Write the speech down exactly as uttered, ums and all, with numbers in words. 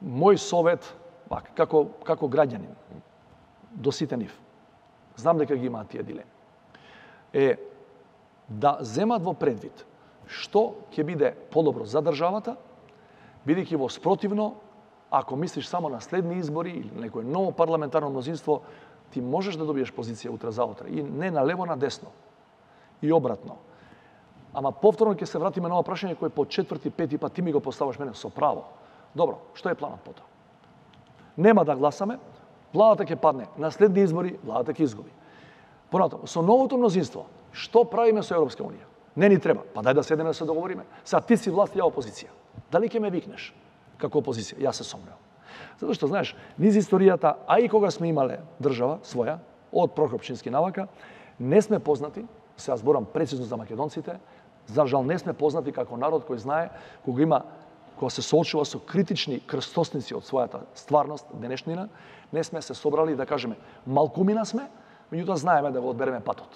мој совет, пак, како, како граѓанин, до сите нив, знам дека ги имаат тие дилеми, е да земат во предвид што ќе биде подобро за државата, бидејќи во спротивно, ако мислиш само на следни избори или некое ново парламентарно мнозинство, ти можеш да добиеш позиција утре заутре и не на лево, на десно. И обратно. Ама повторно ќе се вратиме на ова прашање кој по четврти, пети пат ти ми го поставаш мене со право. Добро, што е планот потоа? Нема да гласаме, владата ќе падне, на следни избори владата ќе изгуби. Понатаму, со новото мнозинство, што правиме со Европска унија? Не ни треба, па дај да седеме да се договориме. Са ти си власт, ја опозиција. Дали ќе ме викнеш како опозиција? Јас се сомневам. Затоа што, знаеш, низ историјата, а и кога сме имале држава своја, од Прохор Пчински навака, не сме познати, се ја зборам прецизно за македонците, за жал не сме познати како народ кој знае кога има кога се соочува со критични крстосници од својата стварност, денешнина, не сме се собрали да кажеме малкумина сме, меѓутоа знаеме да го одбереме патот.